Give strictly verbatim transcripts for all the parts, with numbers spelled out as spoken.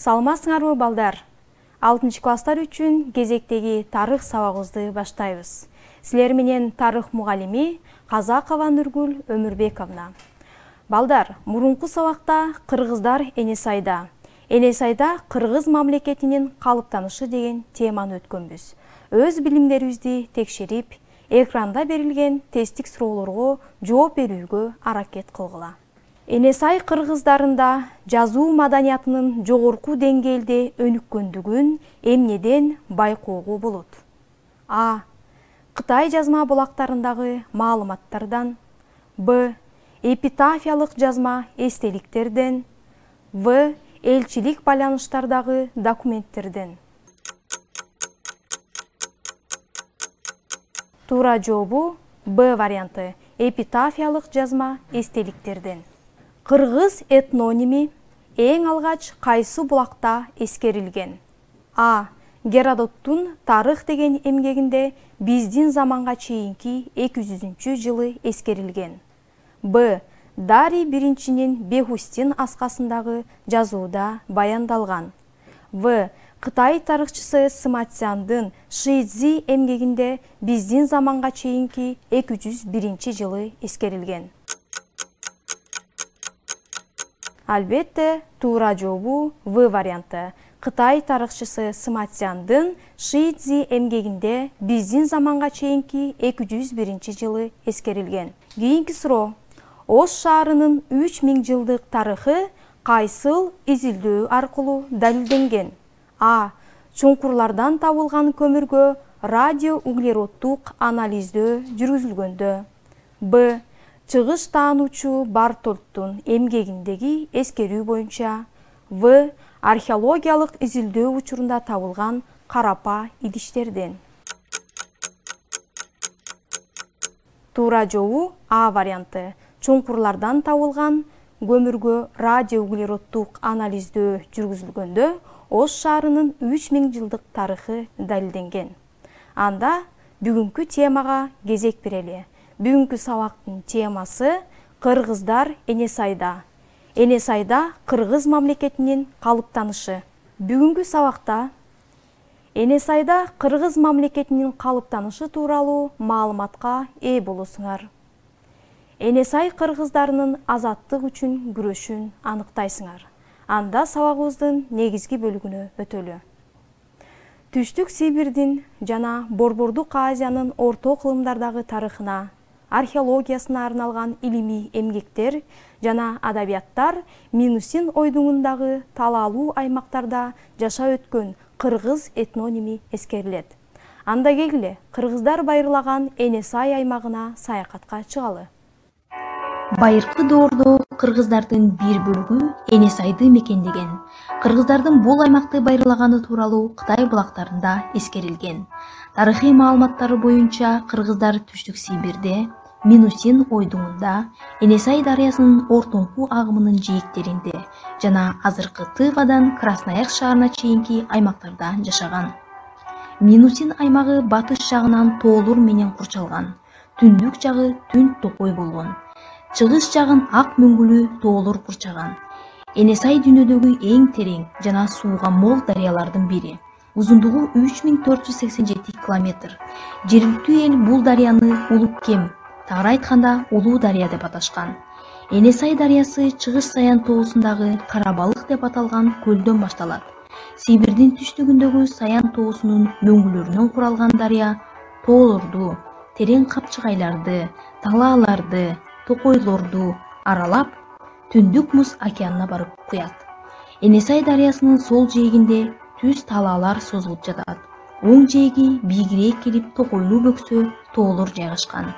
Саламатсыңарбы балдар? алтынчы класстар үчүн кезектеги тарых сабагыбызды баштайбыз. Силер менен тарых мугалими Казакова Нургүл Өмүрбековна. Балдар, мурунку сабакта кыргыздар Энесайда. Энесайда кыргыз мамлекетинин калыптанышы деген теманы өткөнбүз. Өз билимдерибизди текшерип, экранда берилген тесттик суроолорго жооп берүүгө аракет кылгыла. Энесай кыргыздарында жазуу маданиятынын жогорку деңгээлде өнүккөндүгүн эмнеден байкоого болот? А. Кытай жазма булактарындагы маалыматтардан. Б. Эпитафиялык жазма эстеликтерден. В. Элчилик байланыштардагы документтерден. Туура жообу Б варианты. Эпитафиялык жазма эстеликтерден. Кыргыз этноними эң алгач кайсы булакта эскерилген? А. Геродоттун тарых деген эмгегинде биздин заманга чейинки эки жүзүнчү жылы эскерилген. Б. Дарий биринчинин Бехустин аскасындагы жазууда баяндалган. В. Кытай тарыхчысы Сыматсяндын Шидзи эмгегинде биздин заманга чейинки эки жүз биринчи жылы эскерилген. Албетте, туура жообу В варианты. Кытай тарыхчысы Сыматсяндын Шидзи эмгегинде биздин заманга чейинки эки жүз биринчи жылы эскерилген. Кийинки суроо. Ош шаарынын үч миң жылдык тарыхы кайсыл изилдөө аркылуу далилденген? А. Чуңкурлардан табылган көмүргө радиоуглероддук анализдөө жүргүзүлгөндө. Б. Чыгыш таануучу Бартольдтун эмгегиндеги эскерүү боюнча. В. Археологиялык изилдөө учурунда табылган карапа идиштерден. Туура жообу А варианты. Чуңкурлардан табылган көмүргө радиоуглероддук анализдөө жүргүзүлгөндө Ош шаарынын үч миң жылдык тарыхы далилденген. Анда бүгүнкү темага кезек берели. Бүгүнкү сабактын темасы кыргыздар Энесайда. Энесайда кыргыз мамлекетинин калыптанышы. Бүгүнкү сабакта Энесайда кыргыз мамлекетинин калыптанышы тууралуу маалыматка ээ болосуңар. Энесай кыргыздарынын азаттык үчүн күрөшүн аныктайсыңар. Анда сабагыбыздын негизги бөлүгүнө өтөлү. Түштүк Сибирдин жана Борбордук Азиянын орто кылымдардагы тарыхына, археологиясына арналган илимий эмгектер жана адабияттар Минусин ойдуңундагы талаалуу аймактарда жашап өткөн кыргыз этноними эскерилет. Анда келгиле, кыргыздар байырлаган Энесай аймагына саякатка чыгалы. Байыркы доордо кыргыздардын бир бөлүгү Энесайды мекендеген. Кыргыздардын бул аймакты байырлаганы тууралуу Кытай булактарында эскерилген. Тарыхый маалыматтары боюнча кыргыздар Түштүк Сибирде, Минусин ойдуңунда, Энесай дарыясынын ортоңку агымынын жээктеринде жана азыркы Тывадан Красноярск шаарына чейинки аймактарда жашаган. Минусин аймагы батыш жагынан тоолор менен курчалган. Түндүк жагы түн токой болгон. Чыгыш жагын ак мөңгүлүү тоолор курчаган. Энесай дүйнөдөгү эң терең жана сууга мол дарыялардын бири. Узундугу үч миң төрт жүз сексен жети километр. Жергиликтүү эл бул дарыяны Улуккем, тагыраак айтканда Улуу дарыя деп аташкан. Энесай дарыясы Чыгыш Саян тоосундагы Карабалык деп аталган көлдөн башталат. Сибирдин түштүгүндөгү Саян тоосунун мөңгүлөрүнөн куралган дарыя тоолорду, терең капчыгайларды, талааларды, токойлорду аралап, Түндүк Муз океанына барып куят. Энесай дарыясынын сол жээгинде түз талаалар созулуп жатат. Оң жээги бийигирээк келип токойлуу бөксө тоолор жайгашкан.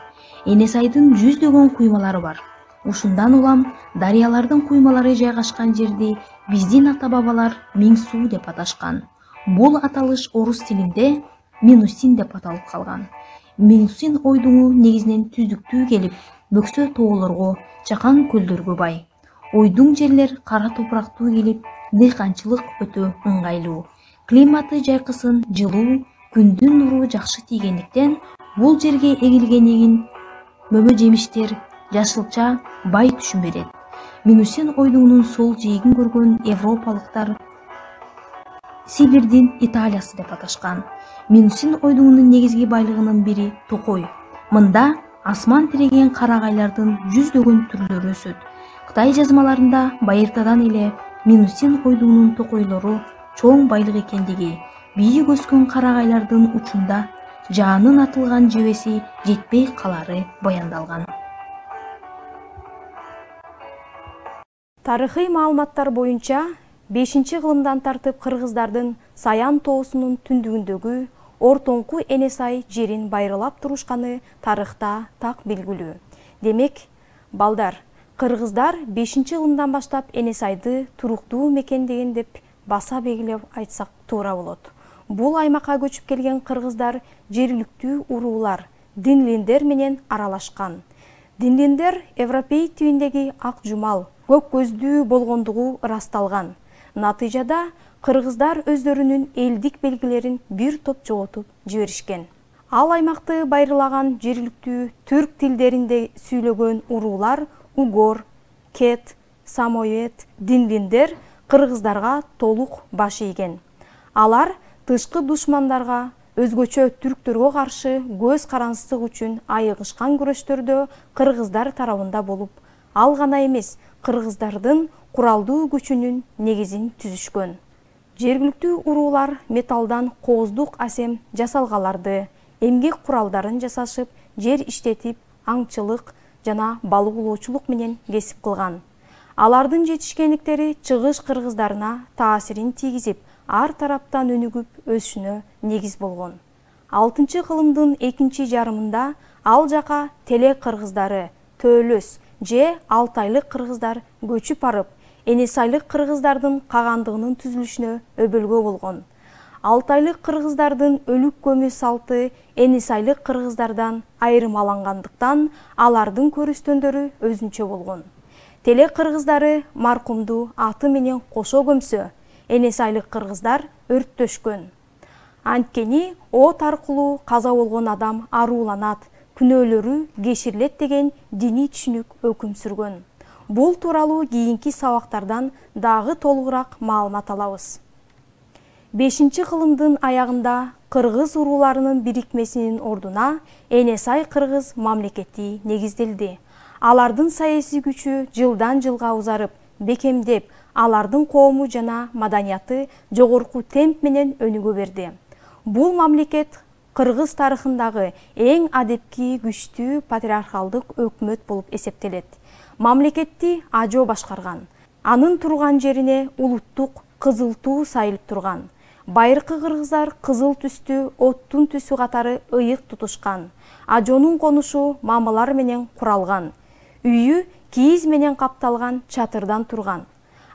Энесайдын жүздөгөн куймалары бар. Ушундан улам дарыялардын куймалары жайгашкан жерди биздин ата-бабалар Миң суу деп аташкан. Бул аталыш орус тилинде Минусин деп аталып калган. Минусин ойдуңу негизинен түздүктүү келип, бөксө тоолорго, чакан көлдөргө бай. Ойдуң жерлер кара топурактуу келип, дыйканчылык өтө ыңгайлуу. Климаты жайкысын жылуу, күндүн нуру жакшы тийгендиктен бул жерге эгилген эгин, мөмө жемиштер, Сибирдин Италиясы деп аташкан. Минусин ойдуңунун негизги байлыгынын бири токой. Мында асман тиреген карагайлардын жүздөгөн түрлөрү өсөт. Кытай жазмаларында байыртадан эле Минусин ойдуңунун токойлору чоң байлык экендиги, бийик өскөн карагайлардын учунда жаанын атылган жебеси жетпей калары баяндалган. Тарыхый маалыматтар боюнча бешинчи кылымдан тартып кыргыздардын Саян тоосунун түндүгүндөгү Ортоңку Энесай жерин байрылап турушканы тарыхта так белгилүү. Демек, балдар, кыргыздар бешинчи кылымдан баштап Энесайды туруктуу мекендеген деп баса белгилеп айтсак туура болот. Бул аймакка көчүп келген кыргыздар жергиликтүү уруулар, динлиндер менен аралашкан. Динлиндер европей тибиндеги ак жумал, көк көздүү болгондугу ырасталган. Натыйжада кыргыздар өздөрүнүн элдик белгилерин бир топ жоготуп жиберишкен. Ал аймакты байырлаган жергиликтүү түрк тилдеринде сүйлөгөн уруулар угор, кет, самоед, динлиндер кыргыздарга толук баш ийген. Алар тышкы душмандарга, өзгөчө түрктөргө каршы көз карансыздык үчүн айыгышкан күрөштөрдө кыргыздар тарабында болуп, ал гана эмес, кыргыздардын куралдуу күчүнүн негизин түзүшкөн. Жергиликтүү уруулар металлдан кооздук асем жасалгаларды, эмгек куралдарын жасашып, жер иштетип, аңчылык жана балык улоочулук менен кесип кылган. Алардын жетишкендиктери чыгыш кыргыздарына таасирин тийгизип, ар тараптан өнүгүп өсүшүнө негиз болгон. алтынчы кылымдын экинчи жарымында ал жака телек кыргыздары, төөлөс же алтайлык кыргыздар көчүп барып, Энесайлык кыргыздардын кагандыгынын түзүлүшүнө өбөлгө болгон. Алтайлык кыргыздардын өлүк көмүү салты Энесайлык кыргыздардан айырмалангандыктан алардын көрүстөндөрү өзүнчө болгон. Телек кыргыздары маркумду аты менен кошо көмсө, Энесайлык кыргыздар өрттөшкөн. Анткени от аркылуу каза болгон адам арууланат, күнөөлөрү кеширилет деген диний түшүнүк өкүм сүргөн. Бул тууралуу кийинки сабактардан дагы толугураак маалымат алабыз. бешинчи кылымдын аягында кыргыз урууларынын бирикмесинин ордуна Энесай кыргыз мамлекети негизделди. Алардын саясий күчү жылдан жылга узарып, бекемдеп, алардын коому жана маданияты жогорку темп менен өнүгө берди. Бул мамлекет кыргыз тарыхындагы эң адепки күчтүү патриархалдык өкмөт болуп эсептелет. Мамлекетти ажо башкарган. Анын турган жерине улуттук кызыл туу сайылып турган. Байыркы кыргыздар кызыл түстүү оттун түсү катары ыйык тутушкан. Ажонун конушу мамылар менен куралган. Үйү кийиз менен капталган чатырдан турган.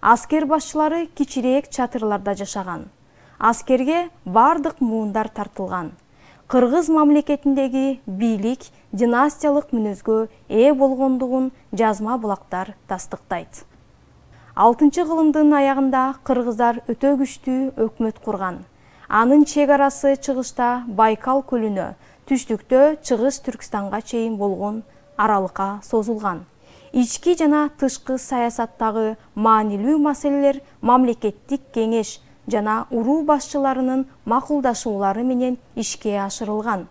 Аскер башчылары кичирээк чатырларда жашаган. Аскерге бардык муундар тартылган. Кыргыз мамлекетиндеги бийлик династиялык мүнөзгө ээ болгондугун жазма булактар тастыктайт. алтынчы кылымдын аягында кыргыздар өтө күчтүү өкмөт курган. Анын чек арасы чыгышта Байкал көлүнө, түштүктө Чыгыш Түркстанга чейин болгон аралыкка созулган. Ички жана тышкы саясаттагы маанилүү маселелер мамлекеттик кеңеш жана уруу башчыларынын макулдашуулары менен ишке ашырылган.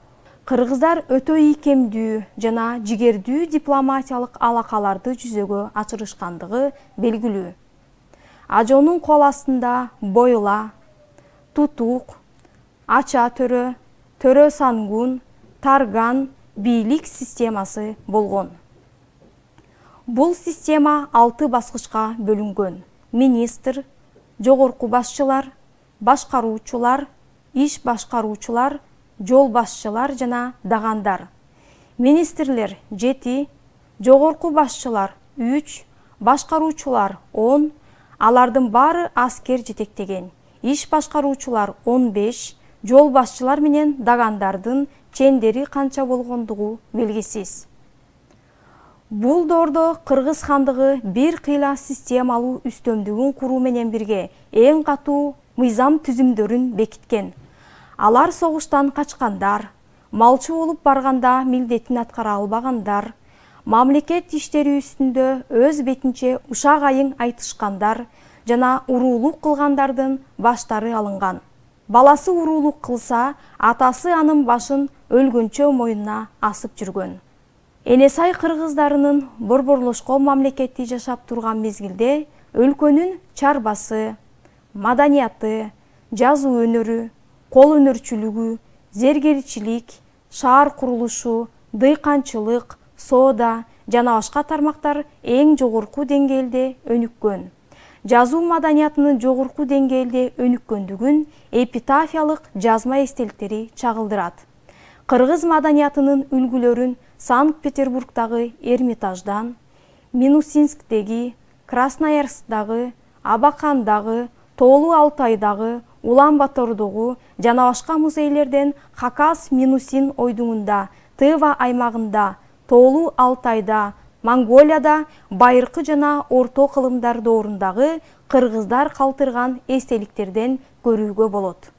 Кыргыздар өтө ийкемдүү жана жигердүү дипломатиялык алакаларды жүзөгө ачырышкандыгы белгилүү. Ажонун кол астында Бойла, Тутук, Ача төрө, Төрө Сангун, Тарган бийлик системасы болгон. Бул система алты баскычка бөлүнгөн. Министр, жогорку башчылар, башкаруучулар, иш башкаруучулар, жол башчылар жана дагандар. Министрлер жети, жогорку башчылар үч, башкаруучулар он, алардын баары аскер жетектеген. Иш башкаруучулар он беш, жол башчылар менен дагандардын чендери канча болгондугу белгисиз. Бул доордо Кыргыз хандыгы бир кыйла системалуу үстөмдүгүн куруу менен бирге эң катуу мыйзам түзүмдөрүн бекиткен. Алар согуштан качкандар, малчы болуп барганда милдетин аткара албагандар, мамлекет иштери үстүндө өз бетинче ушак айың айтышкандар, жана уруулук кылгандардын баштары алынган. Баласы уруулук кылса, атасы анын башын өлгөнчө мойнуна асып жүргөн. Энесай кыргыздарынын борборлошкон мамлекетти жашап турган мезгилде өлкөнүн чарбасы, маданияты, жазуу өнөрү, кол өнөрчүлүгү, зергерчилик, шаар курулушу, дыйканчылык, соода жана башка тармактар эң жогорку деңгээлде өнүккөн. Жазуу маданиятынын жогорку деңгээлде өнүккөндүгүн эпитафиялык жазма эстеликтери чагылдырат. Кыргыз маданиятынын үлгүлөрүн Санкт-Петербургдагы Эрмитаждан, Минусинсктеги, Красноярскдагы, Абакандагы, Тоолу Алтайдагы, Улан-Батордогу жана башка музейлерден Хакас-Минусин ойдуңунда, Тыва аймагында, Тоолу Алтайда, Монголияда байыркы жана орто кылымдар доорундагы кыргыздар калтырган эстеликтерден көрүүгө болот.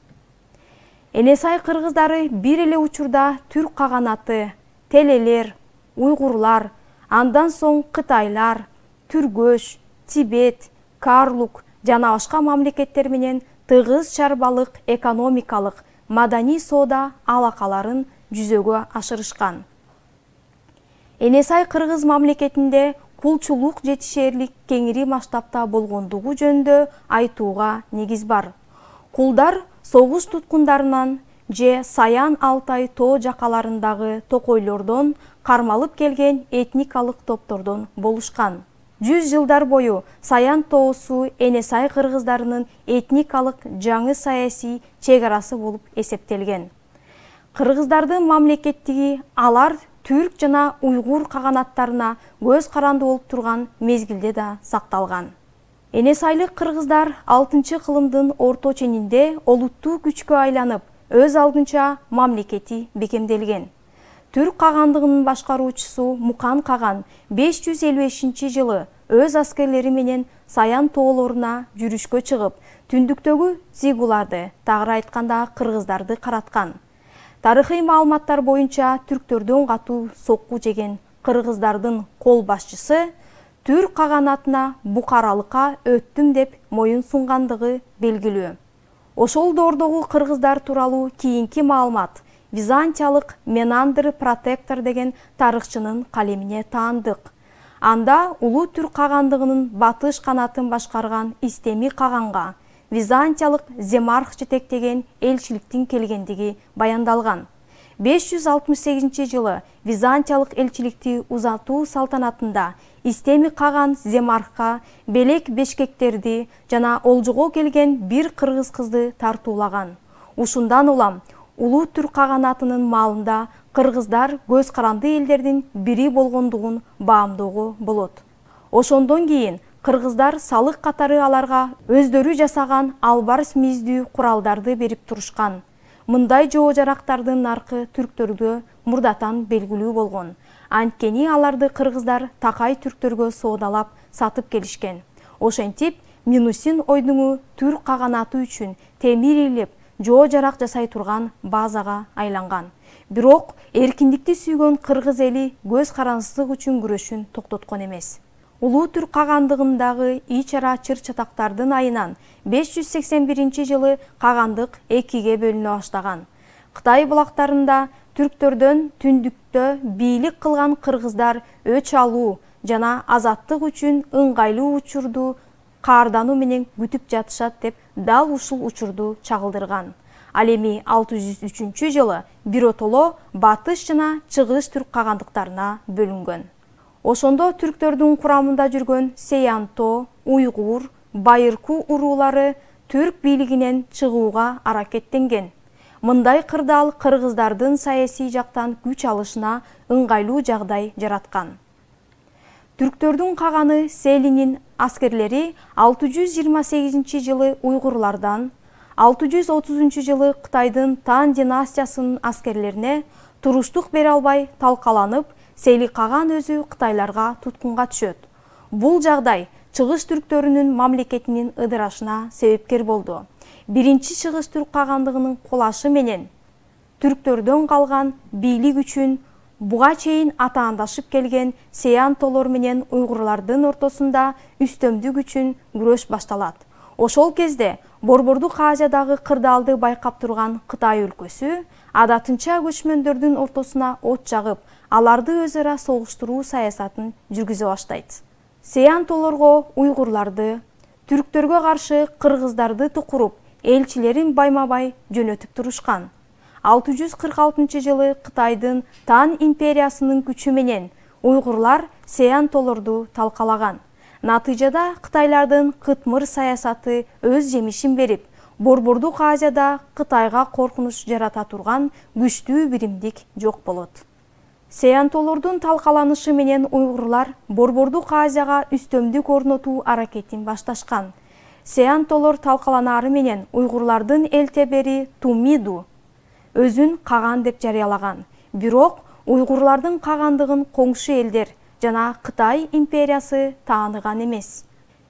Энесай кыргыздары бир эле учурда түрк каганаты, телелер, уйгурлар, андан соң кытайлар, түргөш, Тибет, Карлук жана башка мамлекеттер менен тыгыз чарбалык экономикалык, маданий соода алакаларын жүзөгө ашырышкан. Энесай кыргыз мамлекетинде кулчулук жетишээрлик кеңири масштабта болгондугу жөнүндө айтууга негиз бар. Кулдар согуш туткундарынан же Саян Алтай тоо жакаларындагы токойлордон кармалып келген этникалык топтордон болушкан. Жүз жылдар бою Саян тоосу Энесай кыргыздарынын этникалык жаңы саясий чек арасы болуп эсептелген. Кыргыздардын мамлекеттиги алар түрк жана уйгур каганаттарына көз каранды болуп турган мезгилде да сакталган. Энесайлык кыргыздар алтынчы кылымдын орто ченинде олуттуу күчкө айланып, өз алдынча мамлекети бекемделген. Түрк кагандыгынын башкаруучусу Мукан каган беш жүз элүү бешинчи жылы өз аскерлери менен Саян тоолоруна жүрүшкө чыгып, түндүктөгү цигуларды, тагыраак айтканда кыргыздарды караткан. Тарыхый маалыматтар боюнча түрктөрдөн катуу сокку жеген кыргыздардын кол башчысы түрк каганатына букаралыкка өттүм деп моюн сунгандыгы белгилүү. Ошол доордогу кыргыздар тууралуу кийинки маалымат Византиялык Менандр Протектор деген тарыхчынын калемине таандык. Анда улуу түрк кагандыгынын батыш канатын башкарган Истеми каганга Византиялык Земарх жетектеген элчиликтин келгендиги баяндалган. беш жүз алтымыш сегизинчи жылы Византиялык элчиликти узатуу салтанатында Истеми каган Земархка белек бешкектерди жана олжого келген бир кыргыз кызды тартуулаган. Ушундан улам улуу түрк каганатынын маалында кыргыздар көз каранды элдердин бири болгондугун баамдоого болот. Ошондон кийин кыргыздар салык катары аларга өздөрү жасаган албарс миздүү куралдарды берип турушкан. Мындай жоо жарактардын наркы түрктөргө мурдатан белгилүү болгон. Анткени аларды кыргыздар такай түрктөргө соодалап сатып келишкен. Ошентип, Минусин ойдуңу түрк каганаты үчүн темир илеп, жоо жарак жасай турган базага айланган. Бирок эркиндикти сүйгөн кыргыз эли көз карансыздык үчүн күрөшүн токтоткон эмес. Улуу түрк кагандыгындагы ич ара чыр-чатактардын айынан беш жүз сексен биринчи жылы кагандык экиге бөлүнө баштаган. Кытай булактарында түрктөрдөн түндүктө бийлик кылган кыргыздар өч алуу жана азаттык үчүн ыңгайлуу учурду каардануу менен күтүп жатышат деп дал ушул учурду чагылдырган. Ал эми алты жүз үчүнчү жылы биротоло батыш жана чыгыш түрк кагандыктарына бөлүнгөн. Ошондо түрктөрдүн курамында жүргөн Сеянто, Уйгур, Байырку уруулары түрк бийлигинен чыгууга аракеттенген. Мындай кырдаал кыргыздардын саясий жактан күч алышына ыңгайлуу жагдай жараткан. Түрктөрдүн каганы Селинин аскерлери алты жүз жыйырма сегизинчи жылы уйгурлардан, алты жүз отузунчу жылы Кытайдын Тан династиясынын аскерлерине туруштук бере албай талкаланып, Сели каган өзү кытайларга туткунга түшөт. Бул жагдай чыгыш түрктөрүнүн мамлекетинин ыдырашына себепкер болду. Биринчи чыгыш түрк кагандыгынын кулашы менен түрктөрдөн калган бийлик үчүн буга чейин атаандашып келген сеянтолор менен уйгурлардын ортосунда үстөмдүк үчүн күрөш башталат. Ошол кезде Борбордук Азиядагы кырдаалды байкап турган Кытай өлкөсү адатынча көчмөндөрдүн ортосуна от жагып, аларды өз ара согуштуруу саясатын жүргүзө баштайт. Сеянтолорго уйгурларды, түрктөргө каршы кыргыздарды тукуруп, элчилерин байма-бай жөнөтүп турушкан. алты жүз кырк алтынчы жылы Кытайдын Тан империясынын күчү менен уйгурлар сеянтолорду талкалаган. Натыйжада Кытайлардын кытмыр саясаты өз жемишин берип, Борбордук Азияда Кытайга коркунуч жарата турган күчтүү биримдик жок болот. Сеянтолордун талкаланышы менен уйгурлар Борбордук Азияга үстөмдүк орнотуу аракетин башташкан. Сеянтолор талкаланаары менен уйгурлардын элтебери Тумиду өзүн каган деп жарыялаган. Бирок уйгурлардын кагандыгын коңшу элдер жана Кытай империясы тааныган эмес.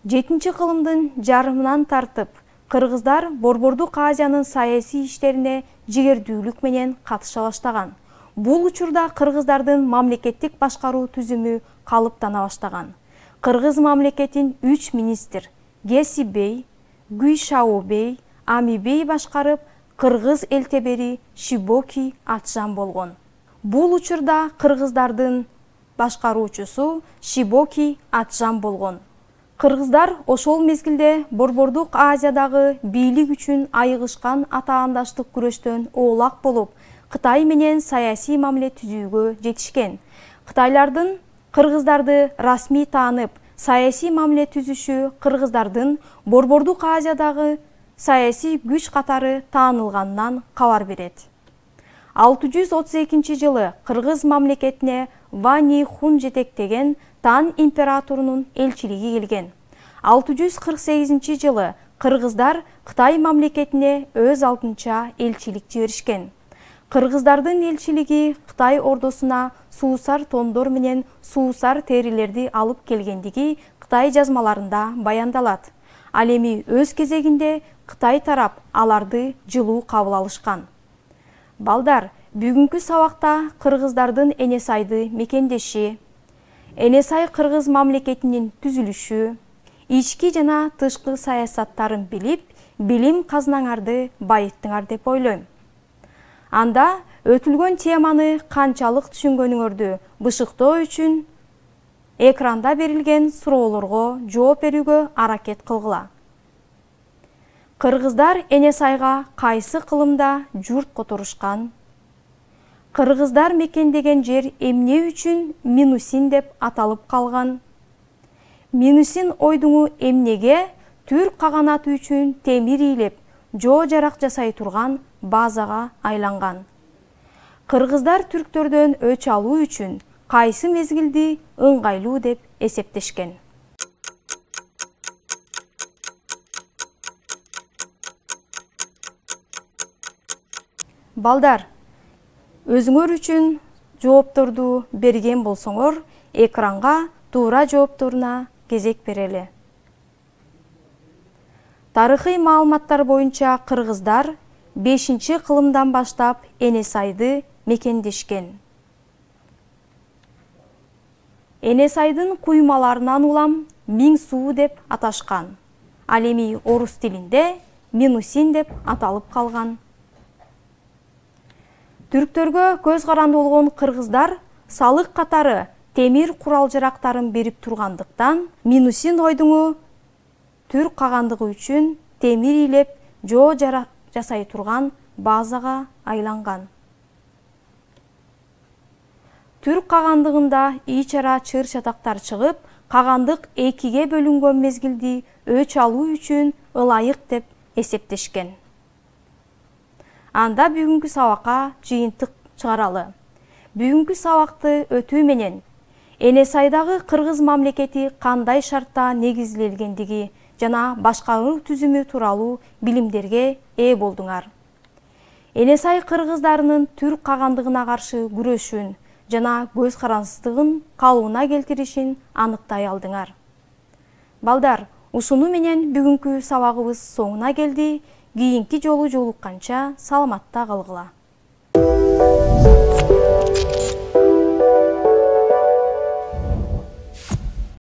жетинчи кылымдын жарымынан тартып, кыргыздар Борбордук Азиянын саясий иштерине жигердүүлүк менен катыша баштаган. Бул учурда кыргыздардын мамлекеттик башкаруу түзүмү калыптана баштаган. Кыргыз мамлекетин үч министр Геси бей, Гүйшао бей, Ами бей башкарып, кыргыз элтебери Шибоки Атжан болгон. Бул учурда кыргыздардын башкаруучусу Шибоки Атжан болгон. Кыргыздар ошол мезгилде Борбордук Азиядагы бийлик үчүн айыгышкан атаандаштык күрөштөн оолак болуп, Кытай менен саясий мамиле түзүүгө жетишкен. Кытайлардын кыргыздарды расмий таанып, саясий мамиле түзүшү кыргыздардын Борбордук Азиядагы саясий күч катары таанылганынан кабар берет. алты жүз отуз экинчи жылы кыргыз мамлекетине Вани Хун жетектеген Тан императорунун элчилиги келген. алты жүз кырк сегизинчи жылы кыргыздар Кытай мамлекетине өз алдынча элчилик жиберишкен. Кыргыздардын элчилиги Кытай ордосуна суусар тондор менен суусар терилерди алып келгендиги Кытай жазмаларында баяндалат. Ал эми өз кезегинде Кытай тарап аларды жылуу кабыл алышкан. Балдар, бүгүнкү сабакта кыргыздардын Энесайды мекендеши, Энесай кыргыз мамлекетинин түзүлүшү, ички жана тышкы саясаттарын билип, билим казынаңарды байыттыңар деп ойлойм. Анда өтүлгөн теманы канчалык түшүнгөнүңөрдү бышыктоо үчүн экранда берилген суроолорго жооп берүүгө аракет кылгыла. Кыргыздар Энесайга кайсы кылымда журт которушкан? Кыргыздар мекендеген жер эмне үчүн Минусин деп аталып калган? Минусин ойдуңу эмнеге түрк каганаты үчүн темир ийилеп, жоо жарак жасай турган базага айланган? Кыргыздар түрктөрдөн өч алуу үчүн кайсы мезгилди ыңгайлуу деп эсептешкен? Балдар, өзүңөр үчүн жоопторду берген болсоңор, экранга туура жоопторуна кезек берели. Тарыхый маалыматтар боюнча кыргыздар бешинчи кылымдан баштап Энесайды мекендешкен. Энесайдын куймаларынан улам Миң суу деп аташкан. Ал эми орус тилинде Минусин деп аталып калган. Түрктөргө көз каранды болгон кыргыздар салык катары темир курал-жарактарын берип тургандыктан Минусин ойдуңу түрк кагандыгы үчүн темир ийилеп, жоо жарак жасай турган базага айланган. Түрк кагандыгында ичара чыр-чатактар чыгып, кагандык экиге бөлүнгөн мезгилди өч алуу үчүн ылайык деп эсептешкен. Анда бүгүнкү сабакка жыйынтык чыгаралы. Бүгүнкү сабакты өтүү менен Энесайдагы кыргыз мамлекети кандай шартта негизделгендиги жана башкаруу түзүмү тууралуу билимдерге ээ болдуңар. Энесай кыргыздарынын түрк кагандыгына каршы күрөшүн жана көз карансыздыгын калыбына келтиришин аныктай алдыңар. Балдар, ушуну менен бүгүнкү сабагыбыз соңуна келди. Кийинки жолу жолукканча саламатта калгыла.